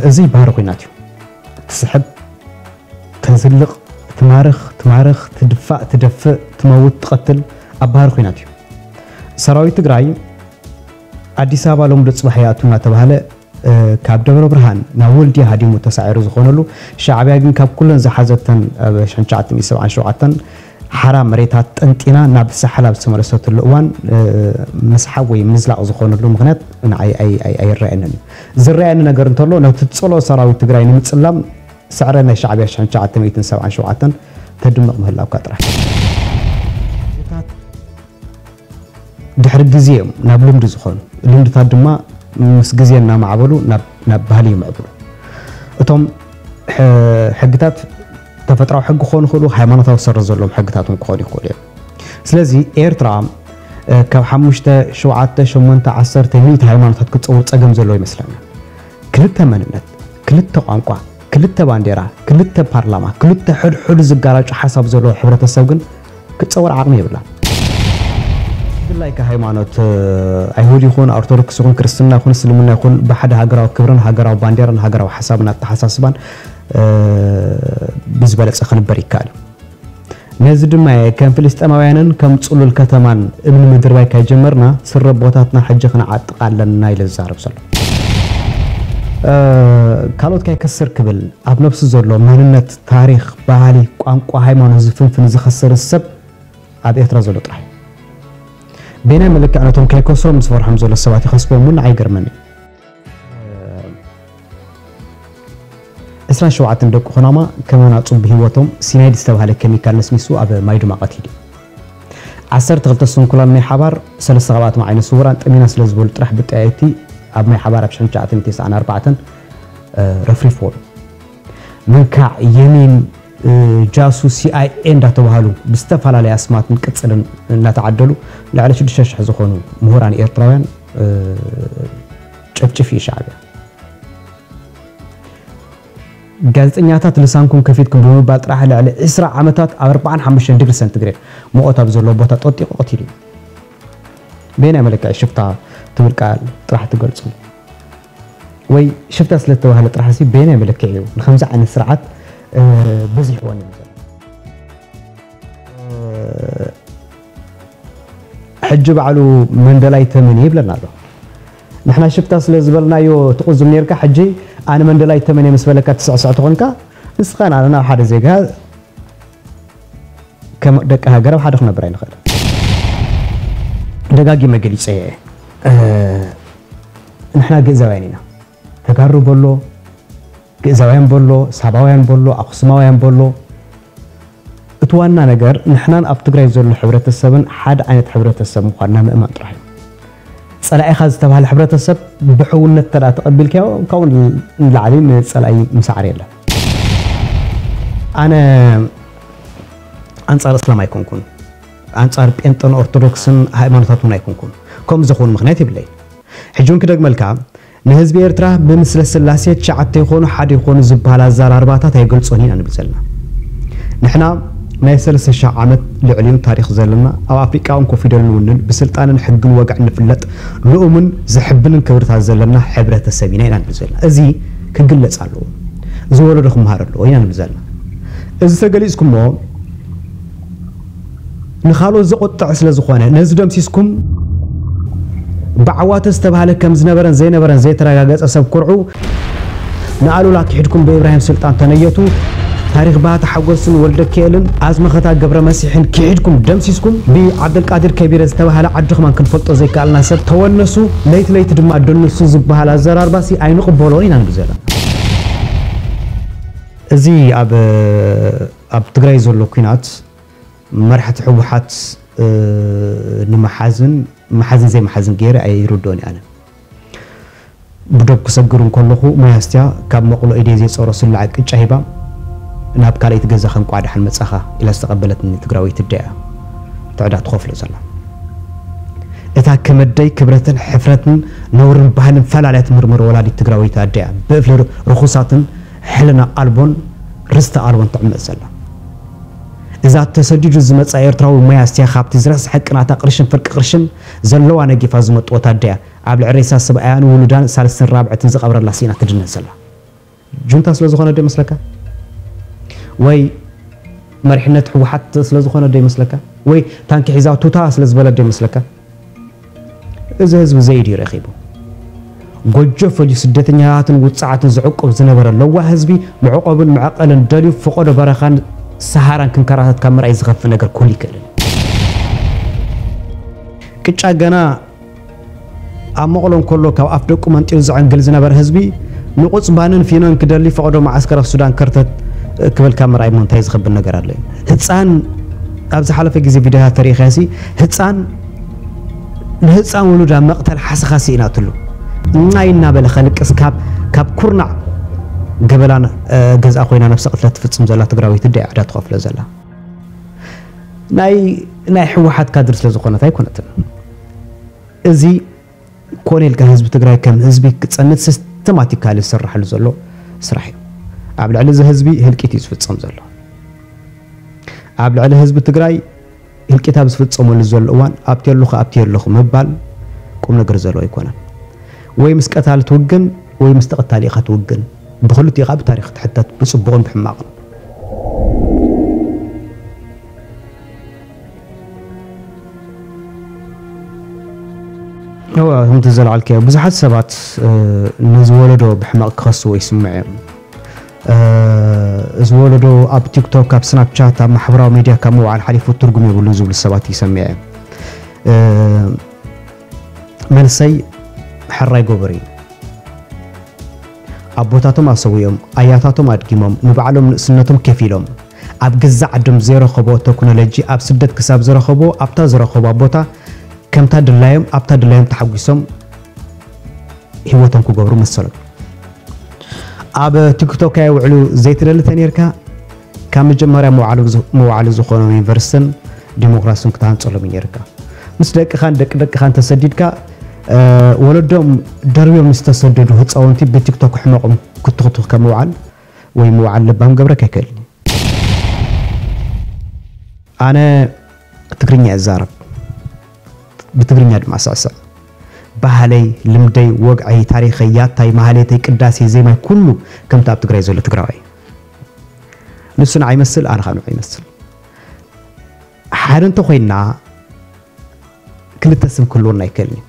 እዚ ባህሪ ኹናት እዩ። ትስሕብ፣ ተዝልቕ፣ ትማርኽ፣ ትማርኽ፣ ትድፋእ፣ ትደፍእ፣ ትመውት፣ ትቐትል ኣብ ባህሪ ኹናት እዩ። ሰራዊት ትግራይ ኣዲስ ኣበባ ሎምዶ ፅባሕ ይኣቱ እናተባህለ ካብ ደብረ ብርሃን ናብ ወልድያ ሃዲሙ ተሳዒሩ ዝኾነሉ፣ ሻዕብያ ግን ካብ ኩለን ዝሓዘተን ኣብ ሽሕን ትሽዓተ ሚእትን ሰብዓን ሸውዓተን ሓራ መሬታት ጠንጢና ናብ ሳሕላ ዝተመለሰትሉ እዋን ምስሓብ ወይ ምዝላቕ ዝኾነሉ ምኽንያት ንዓይ ኣይረኣየንን እዩ። ዝረኣየኒ ነገር እንተሎ ነቲ ዝፀልኦ ሰራዊት ትግራይ ንምፅላም ስዕረ ናይ ሻዕብያ ሽሕን ትሽዓተ ሚእትን ሰብዓን ሸውዓተን ተድምቕ ምህላውካ ጥራሕ። ድሕሪ ግዜ እዮም ናብ ልምዲ ዝኾኑ። ልምድታት ድማ ምስ ግዜ እናማዕበሉ ናብ ባህሊ ይምዕብሉ። እቶም ሕግታት ተፈጥራዊ ሕጊ ክኾኑ ይኽእሉ፣ ሃይማኖታዊ ሰረት ዘለዎም ሕግታት እውን ክኾኑ ይኽእሉ እዮም። ስለዚ ኤርትራ ካብ ሓሙሽተ፣ ሸውዓተ፣ ሸሞንተ፣ ዓሰርተ፣ ሚእቲ ሃይማኖታት ክትፀውር ፀገም ዘለዎ ይመስለና። ክልተ መንነት፣ ክልተ ቋንቋ፣ ክልተ ባንዴራ፣ ክልተ ፓርላማ፣ ክልተ ሕድሕዱ ዝጋራጩ ሓሳብ ዘለዎ ሕብረተሰብ ግን ክትፀውር ዓቕሚ የብላን። ብፍላይ ከ ሃይማኖት ኣይሁድ ይኹን ኦርቶዶክስ ይኹን ክርስትና ይኹን እስልምና ይኹን ብሓደ ሃገራዊ ክብርን ሃገራዊ ባንዴራን ሃገራዊ ሓሳብን ኣተሓሳስባን ብዝበለፀ ክንበር ይከኣል። ነዚ ድማ እየ ከም ፍልስጤማውያንን ከም ፅሉል ከተማን እምኒ ምድርባይ ካይጀመርና ስረ ቦታትና ሕጂ ክንዓጥቕ ኣለና ኢለ ዝዛረብ ዘሎ። ካልኦት ካይከስር ክብል ኣብ ነብሱ ዘሎ መንነት፣ ታሪኽ፣ ባህሊ፣ ቋንቋ፣ ሃይማኖት ዝፍንፍን ዝኸስር ሰብ ኣብ ኤርትራ ዘሎ ጥራሕ። በየናይ መለክዕ ነቶም ከይከስሮም ዝፈርሖም ዘሎ ሰባት ይኸስቦም እውን ንዓይ ይገርመኒ። ዕስራን ሸውዓተን ደቂ ኩናማ ከማን ኣጹ ብህይወቶም ሲናይድ ዝተባህለ ኬሚካል ነስኒሱ ኣብ ማይ ዱማቐት ሂዱ። ዓሰርተ ክልተ ስንኩላን ማይ ሓባር፣ ሰለስተ ካብኣቶም ዓይነ ስውራን ጠሚና ስለ ዝበሉ ጥራሕ ብጠያይቲ ኣብ ማይ ሓባር ኣብ ሽሕን ትሽዓተ ሚእትን ተስዓን ኣርባዕተን ረፍሪፍዎም። መንካዕ፣ የሚን፣ ጃሱ፣ ሲኣይኤ እንዳተባሃሉ ብዝተፈላለየ ኣስማትን ቅጽልን እናተዓደሉ ልዕሊ ሽዱሽተ ሽሕ ዝኾኑ ምሁራን ኤርትራውያን ጨፍጭፍ እዩ ሻዕብያ። ጋዜጠኛታት ልሳንኩም ከፊትኩም ብምባል ጥራሕ ልዕሊ ዕስራ ዓመታት ኣብ ኣርባዓን ሓሙሽተን ዲግሪ ሰንቲግሬድ ሙቐት ኣብ ዘለዎ ቦታ ጠጢቑ ቀቲሉ እዩ። በየናይ መለክዒ ሽፍታ ትብል ቃል ጥራሕ ትገልጹ? ወይ ሽፍታ ስለ ዝተባህለ ጥራሕ ሲ በየናይ መለክዒ እዩ ንከምዚ ዓይነት ስርዓት በዚሕዎ ነይሩ ዘሎ? ሕጂ ባዕሉ መንደላይ ተመን ይብለና ኣሎ። ንሕና ሽፍታ ስለ ዝበልናዮ ትቕዙም ነርካ፣ ሕጂ ኣነ መንደላይ ተመን ምስ በለካ ትስዕስዕ ትኾንካ፣ ንስኻ ንኣና ሓደ ዜጋ ከም ደቂ ሃገር ኣብ ሓደ ክነብር ኣይንኽእል። ደጋጊመ ገሊጸ እየ። ንሕና ግእዛውያን ኢና። ተጋሩ በሎ፣ ግእዛውያን በሎ፣ ሳባውያን በሎ፣ ኣኽሱማውያን በሎ፣ እቲ ዋና ነገር ንሕናን ኣብ ትግራይ ዘሎ ሕብረተሰብን ሓደ ዓይነት ሕብረተሰብ ምዃንና ምእማን ጥራሕ እዩ። ጸላኢኻ ዝተባህለ ሕብረተሰብ ብሕውነት እንተ ደኣ ተቐቢልካዮ፣ ካብኡ ንላዕሊ ንጸላኢ ምሳዕር የለን። ኣነ ኣንጻር እስላም ኣይኮንኩን፣ ኣንጻር ጴንጠን ኦርቶዶክስን ሃይማኖታት እውን ኣይኮንኩን። ከምኡ ዝኸውን ምኽንያት የብለይ። ሕጂ እውን ክደግመልካ፣ ንህዝቢ ኤርትራ ብምስለ ስላሴ ትሽዓተ ይኾኑ ሓደ ይኾኑ ዝበሃል ኣዘራርባታት ኣይገልጾን ኢና ንብል ዘለና። ንሕና ናይ ሰለስተ ሽሕ ዓመት ልዕሊኡን ታሪኽ ዘለና፣ ኣብ ኣፍሪቃ እውን ኮፍ ኢሉ ንውንን፣ ብስልጣንን ሕግን ወግዕን ንፍለጥ፣ ልኡምን ዘሕብንን ክብርታት ዘለና ሕብረተሰብ ኢና ኢና ንብል ዘለና። እዚ ክግለጽ ኣለዎ። እዚ ወለዶ ክመሃር ኣለዎ ኢና ንብል ዘለና። እዚ ተገሊጽኩሞ ንኻልኦት ዘቑጥዕ ስለ ዝኾነ፣ ነዚ ደምሲስኩም ብዓዋተ ዝተባህለ ከም ዝነበረን ዘይነበረን ዘይተረጋገጸ ሰብ ኩርዑ፣ ንኣሉላ ክሒድኩም ብኢብራሂም ስልጣን ተነየቱ፣ ታሪኽ ባህታ ሓጎስን ወልደኪኤልን ኣዝመኸታ ገብረ መሲሕን ክሒድኩም ደምሲስኩም፣ ብዓብደልቃዲር ከቢረ ዝተባህለ ዓድኹማን ክንፈልጦ ዘይከኣልና ሰብ ተወነሱ፣ ለይቲ ለይቲ ድማ ደንሱ ዝበሃል ኣዘራርባሲ ኣይንቕበሎን ኢና ንብል ዘለና። እዚ ኣብ ኣብ ትግራይ ዘሎ ኲናት መራሕቲ ህወሓት ንምሓዝን ምሓዝን ዘይምሓዝን ገይረ ኣይርድኦን እየ ኣነ። ብዶብ ክሰግር እንከለኹ ማይ ኣስትያ ካብ መቕሎ ኢደይ ዘይፀሮ ስላዕ ቅጫ ሂባ ናብ ካልኣይቲ ገዛ ከንቋዕ ደሓን መፃኻ ኢላ ዝተቐበለትኒ ትግራወይቲ ኣደ እያ ትዕዳ ትኸፍሎ ዘላ። እታ ከመደይ ክብረትን ሕፍረትን ነውርን ባህልን ፈላልያ ትምርምር ወላዲት ትግራወይቲ ኣደ እያ ብእፍሊ ርኹሳትን ሕልና ኣልቦን ርስቲ ኣልቦን ትዕመፅ ዘላ። እዛ ተሰዲዱ ዝመፃ ኤርትራዊ ማይ ኣስትያ ካብቲ ዝረስሐ ቅናታ ቅርሽን ፍርቂ ቅርሽን ዘለዋ ነጊፋ ዝመጥወት ኣደ እያ። ኣብ ልዕሊ ሬሳ ሰብኣያን ውሉዳን ሳልስትን ራብዕትን ዝቐብረላ ስኢና ትድነ ዘላ ጁንታ ስለ ዝኾነ ዶ ይመስለካ? ወይ መሪሕነት ህወሓት ስለ ዝኾነ ዶ ይመስለካ? ወይ ታንኪ ሒዛ ቱታ ስለ ዝበለ ዶ ይመስለካ? እዚ ህዝቢ ዘይድዩ ረኺቡ። ጎጆ ፈልዩ ስደተኛታትን ውፅዓትን ዝዕቁብ ዝነበረ ለዋህ ህዝቢ መዕቆብን መዕቀልን ደልዩ ፈቆዶ በረኻን ሰሃራን ክንከራተት ካብ ምርኣይ ዝኸፍእ ነገር ክህሉ ይክእልን። ቅጫ ገና ኣብ መቐሎ እንከሎ ካብ ኣፍ ደቁ መንጢሉ ዘዕንግል ዝነበረ ህዝቢ ንቑፅባንን ፊኖን ክደሊ ፈቐዶ መዓስከር ኣብ ሱዳን ከርተት ክብል ካብ ምርኣይ እሞ እንታይ ዝኸብል ነገር ኣሎ? ህፃን ኣብ ዝሓለፈ ግዜ ቪድዮታት ተሪኢኻሲ ህፃን ንህፃን ውሉዳ መቕተል ሓሰኻ ስኢናትሉ እናይ እናበለ ከልቅስ ካብ ካብ ኩርናዕ ገበላን ገዝኣ ኮይና ነብሰ ቅትለት ትፍፅም ዘላ ትግራወይቲ ደ ዕዳ ትኸፍሎ ዘላ ናይ ናይ ህወሓት ካድር ስለ ዝኾነት ኣይኮነትን። እዚ ኮነ ኢልካ ህዝቢ ትግራይ ከም ህዝቢ ክፀንት ሲስተማቲካሊ ዝስራሓሉ ዘሎ ስራሕ እዩ። ኣብ ልዕሊ እዚ ህዝቢ ህልቂት እዩ ዝፍፀም ዘሎ። ኣብ ልዕሊ ህዝቢ ትግራይ ህልቂት ኣብ ዝፍፀመሉ ዘሎ እዋን ኣብቲ ኣለኹ ኣብቲ ኣለኹ ምባል ቁም ነገር ዘለዎ ኣይኮነን። ወይ ምስ ቀታሊ ትውግን ወይ ምስ ተቐታሊ ኢኻ ትውግን። ብክልቲኡ ኢኻ ብታሪኽ ትሕተት ብፅቡቕን ብሕማቕን። እወ ከምቲ ዘልዓልካዮ ብዙሓት ሰባት ነዚ ወለዶ ብሕማቕ ክኸስዎ ይስምዑ እዮም። እዚ ወለዶ ኣብ ቲክቶክ ኣብ ስናፕቻት ኣብ ማሕበራዊ ሚድያ ካብ ምውዓል ሓሊፉ ትርጉም የብሉን ዝብሉ ሰባት ይሰምዐ እየ። መልሰይ ሕራይ ጎበሪ። ኣቦታቶም ኣሰዊኦም፣ ኣያታቶም ኣድጊሞም፣ ንባዕሎም ንእስነቶም ከፊሎም፣ ኣብ ገዛእ ዓዶም ዘይረኸብኦ ተክኖሎጂ ኣብ ስደት ክሳብ ዝረኸብዎ ኣብታ ዝረኸብዋ ቦታ ከምታ ድላዮም ኣብታ ድላዮም ተሓጒሶም ህይወቶም ክገብሩ መሰሎም። ኣብ ቲክቶክ ኣየውዕሉ ዘይትደሊ ተነይርካ ካብ መጀመርያ መውዓሉ ዝኾኖም ዩኒቨርሲትን ዲሞክራስን ክትሃንፀሎም እዩ ነይርካ። ምስ ደቅኻን ደቂ ደቅኻን ተሰዲድካ ወለዶም ደርብዮም ዝተሰደዱ ህፃውንቲ ብቲክቶክ ሕመቆም ክትኽትኽ ከም ምውዓል ወይ ምውዓል ለባም ገብረካ ኣይክእልን እዩ። ኣነ ትግርኛ እዛረብ፣ ብትግርኛ ድማ ስዕስዕ። ባህለይ፣ ልምደይ፣ ወግዐይ፣ ታሪኸይ፣ ያታይ፣ ማህሌተይ፣ ቅዳሴ፣ ዜማይ ኩሉ ከምቲ ኣብ ትግራይ ዘሎ ትግራዋይ። ንሱ ንዓይ ይመስል፣ ኣነ ካብ ንዑ ይመስል። ሓደ እንተኾይንና ክልተ ስም ክህልወና ኣይክእልን እዩ።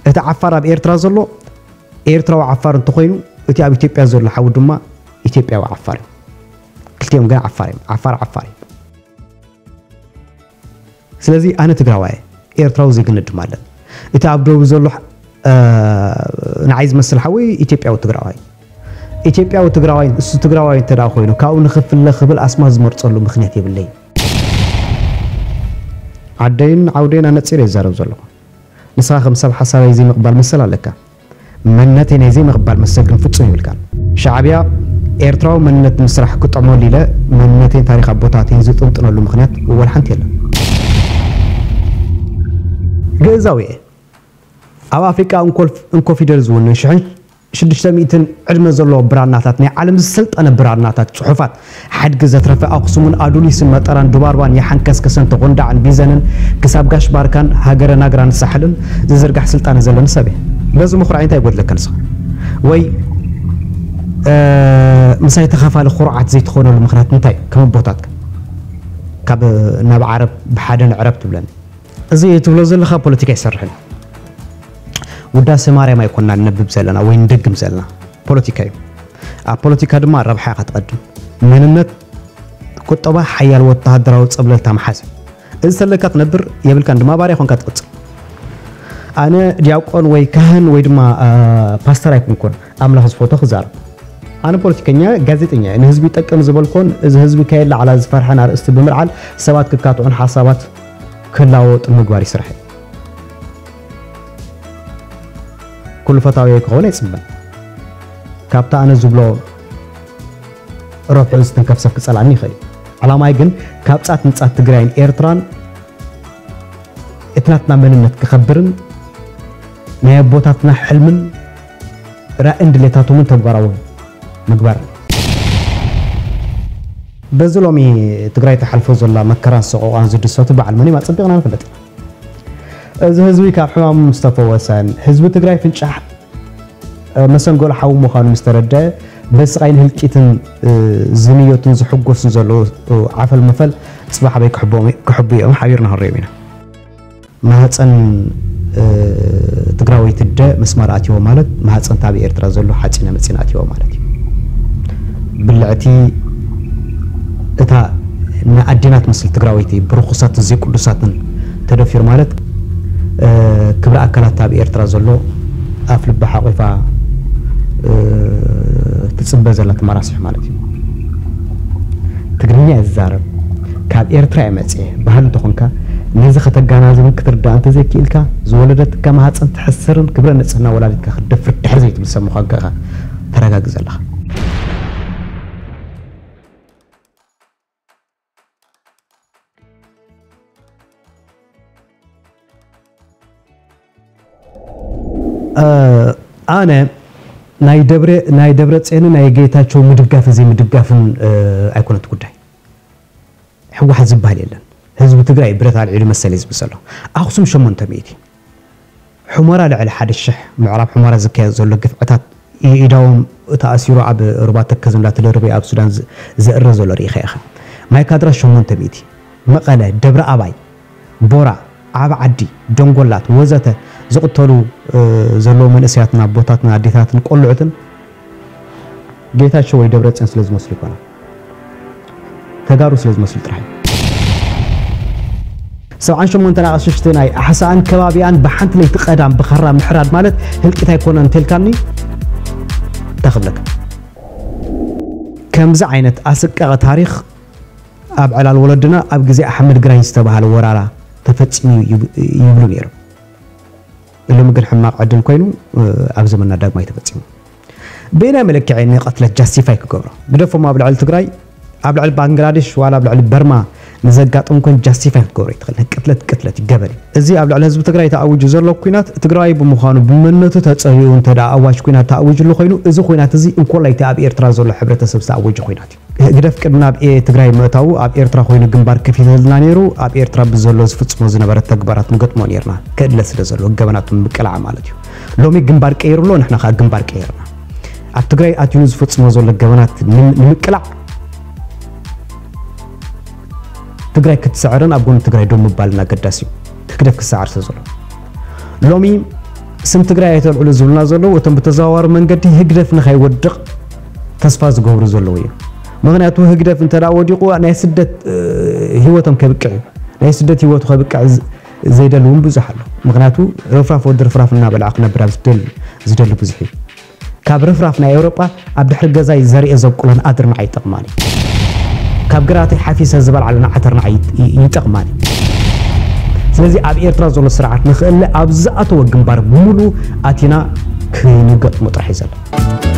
እቲ ዓፋር ኣብ ኤርትራ ዘሎ ኤርትራዊ ዓፋር እንተኾይኑ እቲ ኣብ ኢትዮጵያ ዘሎ ሓው ድማ ኢትዮጵያዊ ዓፋር እዩ። ክልቲኦም ግን ዓፋር እዮም። ዓፋር ዓፋር እዩ። ስለዚ ኣነ ትግራዋይ ኤርትራዊ ዜግነት ድማ ኣለኒ። እቲ ኣብ ደቡብ ዘሎ ንዓይ ዝመስል ሓወይ ኢትዮጵያዊ ትግራዋይ ኢትዮጵያዊ ትግራዋይ እሱ ትግራዋይ እንተ ኮይኑ ካብኡ ንኽፍለ ክብል ኣስማት ዝመርፀሉ ምክንያት የብለይ። ዓደይን ዓውደይን ኣነፂረ ይዛረብ ዘለኹ። ንስኻ ከም ሰብ ሓሳበይ ዘይምቕባል መሰል ኣለካ። መንነተይ ናይ ዘይምቕባል መሰል ግን ፍጹም የብልካን። ሻዕብያ ኤርትራዊ መንነት ንምስራሕ ክጥዕመሉ ኢለ መንነተይን ታሪኽ ኣቦታተይን ዝጥንጥነሉ ምኽንያት ወላ ሓንቲ የለን። ግእዛዊ እየ። ኣብ ኣፍሪቃ እንኮ ፊደል ዝውንን ሽሕን ሽዱሽተ ሚእትን ዕድመ ዘለዎ ብራናታት ናይ ዓለም ዝሰልጠነ ብራናታት ጽሑፋት ሓድጊ ዘትረፈ ኣኽሱምን ኣዱሊስን መጠራን ዱባርባን የሓን ከስከሰን ተጎንዳዕን ቢዘንን ክሳብ ጋሽ ባርካን ሃገረ ናግራን ሳሕልን ዝዝርጋሕ ስልጣነ ዘለኒ ሰብ እየ። በዚ ምኹራዕ እንታይ ይጎድለካ ንስኻ? ወይ ምሳይ ተኻፋሊ ኩርዓት ዘይትኾነሉ ምኽንያት እንታይ? ከም ኣቦታትካ ካብ ናብ ዓረብ ብሓደ ንዕረብ ትብለኒ። እዚ ትብሎ ዘለኻ ፖለቲካ ይሰርሕን ውዳሴ ማርያም ኣይኮና ንነብብ ዘለና ወይ ንደግም ዘለና ፖለቲካ እዩ። ኣብ ፖለቲካ ድማ ረብሓ ኢኻ ትቐድም። መንነት ቁጠባ ሓያል ወተሃደራዊ ጸብለልታ መሓዝ እዩ። እዚ ተለካ ትነብር የብልካን ድማ ባርያ ኮንካ ትቕጽል። ኣነ ዲያቆን ወይ ካህን ወይ ድማ ፓስተር ኣይኮንኩን ኣምላኽ ዝፈቶ ክዛረብ። ኣነ ፖለቲከኛ ጋዜጠኛ እየ። ንህዝቢ ይጠቅም ዝበልኮን እዚ ህዝቢ ከየላዕላ ዝፈርሐን ኣርእስቲ ብምልዓል ሰባት ክካትዑን ሓሳባት ክላወጡ ምግባር ይስራሕ። ኩሉ ፈታዊ ክኸውን ኣይጽበን። ካብታ ኣነ ዝብሎ ረብሑ ዝትንከፍ ሰብ ክጸላኒ ይኽእል። ዓላማይ ግን ካብ ጻት ንጻት ትግራይን ኤርትራን እቲ ናትና መንነት ክኸብርን ናይ ኣቦታትና ሕልምን ራእን ድሌታቶምን ተግባራዊ ምግባር። በዚ ሎሚ ትግራይ ተሓልፎ ዘላ መከራን ሰቆቃን ዝድሰቱ በዓል መን እዮም ኣጸቢቕና ንፈልጥ። እዚ ህዝቢ ካብ ሕማሙ ምስ ተፈወሰን ህዝቢ ትግራይ ፍንጫሕ መሰንገሎ ሓዊ ምዃኑ ምስ ተረድአ፣ በስቓይን ህልቂትን ዝንየቱን ዝሕጎስን ዘለዉ ዓፈል መፈል ጽባሕ ኣበይ ክሕብኦም እዮም ሓቢርና ክንሪኦም ኢና። ማህፀን ትግራወይቲ ኣደ መስማር ኣትይዎ ማለት ማህፀን ኣብ ኤርትራ ዘሎ ሓፂነ መፂን ኣትይዎ ማለት እዩ። ብልዕቲ እታ ንኣዴና ትመስል ትግራወይቲ ብርኹሳትን ዘይቅዱሳትን ተደፊሩ ማለት ክብሪ ኣካላት ኣብ ኤርትራ ዘሎ ኣፍ ልባ ሓቂፋ ትፅበ ዘላ ተመራሲሕ ማለት እዩ። ትግርኛ እዛረብ ካብ ኤርትራ እየ መፅየ በሃል እንተኾንካ ነዚ ከተጋናዝብን ክትርዳእ እንተዘይክኢልካ ዝወለደትካ ማህፀን ትሕስርን ክብረ ንፅህና ወላዲትካ ክትደፍር ድሕር ዘይትብል ሰብ ምዃንካ ኢኻ ተረጋግፅ ኣለኻ። ኣነ ናይ ደብረ ናይ ደብረ ጽዮንን ናይ ጌታቸው ምድጋፍን ዘይምድጋፍን ኣይኮነን እቲ ጉዳይ። ህወሓት ዝበሃል የለን። ህዝቢ ትግራይ ብረት ኣልዒሉ መሰል እዩ ዝብል ዘሎ። ኣኽሱም ሸሞንተ ሚእቲ፣ ሑመራ ልዕሊ ሓደ ሽሕ፣ ምዕራብ ሑመራ ዝካየድ ዘሎ ግፍዕታት ኢዳዎም ተኣሲሩ ኣብ ሩባ ተከዘ እንዳተደርበዩ ኣብ ሱዳን ዘእረ ዘሎ ርኢኻ ኢኻ። ማይካድራ ሸሞንተ ሚእቲ፣ መቐለ፣ ደብረ ኣባይ፣ ቦራ፣ ዓቢ ዓዲ፣ ደንጎላት ወዘተ ዝቕተሉ ዘለዉ መንእሰያትን ኣቦታትን ኣዴታትን ቆልዑትን ጌታቸው ወይ ደብረፅዮን ስለ ዝመስሉ ይኮና፣ ተጋሩ ስለ ዝመስሉ ጥራሕ እዩ። ሰብዓን ሸሞንተን ኣቕሽሽቲ ናይ ኣሕሳእን ከባቢኣን ብሓንቲ ለይቲ ቀዳም ብኻራ ምሕራድ ማለት ህልቂት ኣይኮነን እንተልካኒ እንታይ ክብለካ? ከምዚ ዓይነት ኣስቃቂ ታሪኽ ኣብ ዕላል ወለድና ኣብ ግዜ ኣሕመድ ግራኝ ዝተባህለ ወራራ ተፈጺሙ ይብሉ ነይሮም። ሎሚ ግን ሕማቕ ዕድል ኮይኑ ኣብ ዘመንና ዳግማይ ተፈጺሙ። ብናይ መለክዒ ንቐትለት ጃስቲፋይ ክገብሮ ግደፎም ኣብ ልዕሊ ትግራይ ኣብ ልዕሊ ባንግላዴሽ ዋላ ኣብ ልዕሊ በርማ ንዘጋጥም ኮን ጃስቲፋይ ክትገብሮ ይትኽእል። ቅትለት ቅትለት ይገበር እዩ። እዚ ኣብ ልዕሊ ህዝቢ ትግራይ ተኣዊጁ ዘሎ ኩናት ትግራይ ብምዃኑ ብመንነቱ ተጸሪኡ እንተ ደኣ ኣዋጅ ኩናት ተኣዊጅሉ ኮይኑ እዚ ኩናት እዚ እንኮላይ እቲ ኣብ ኤርትራ ዘሎ ሕብረተሰብ ዝተኣወጀ ኩናት እዩ። ህግደፍ ቅድሚ ናብ ኤ ትግራይ ምእታዉ ኣብ ኤርትራ ኮይኑ ግንባር ከፊተልና ነይሩ። ኣብ ኤርትራ ብዘሎ ዝፍጽሞ ዝነበረ ተግባራት ንገጥሞ ነይርና። ክእለ ስለ ዘሎ ገበናቱ ንምቅላዕ ማለት እዩ። ሎሚ ግንባር ቀይሩ ኣሎ፣ ንሕና ከኣ ግንባር ቀይርና። ኣብ ትግራይ ኣትዩ ዝፍጽሞ ዘሎ ገበናት ንም- ንምቅላዕ ትግራይ ክትስዕርን ኣብ ጎኒ ትግራይ ደው ምባልን ኣገዳሲ እዩ። ህግደፍ ክሰዓር ስለ ዘሎ ሎሚ ስም ትግራይ ኣይተልዕሉ ዝብሉና ዘለዉ እቶም ብተዘዋዋሪ መንገዲ ህግደፍ ንኸይወድቕ ተስፋ ዝገብሩ ዘለዉ እዮም። ምኽንያቱ ህግደፍ እንተ ደኣ ወዲቑ ናይ ስደት እ፣ ህይወቶም ከብቅዕ እዩ። ናይ ስደት ህይወቱ ከብቅዕ ዝ- ዘይደሊ እውን ብዙሕ ኣሎ። ምኽንያቱ ርፍራፍ ወዲ ርፍራፍ እናበልዓ ክነብር ኣብ ዝደሊ ዝደሊ ብዙሕ እዩ። ካብ ርፍራፍ ናይ ኤውሮጳ ኣብ ድሕሪ ገዛይ ዘርእየ ዘብቁለን ኣድርማዕ ይጠቕማኒ። ካብ ግራተይ ሓፊሰ ዝበልዓሉ ንዓተርናዕ ይጠቕማኒ። ስለዚ ኣብ ኤርትራ ዘሎ ስርዓት ንኽእለ ኣብ ዝኣተወ ግንባር ብምሉ ኣቲና ክንገጥሞ ጥራሕ እዩ ዘሎ።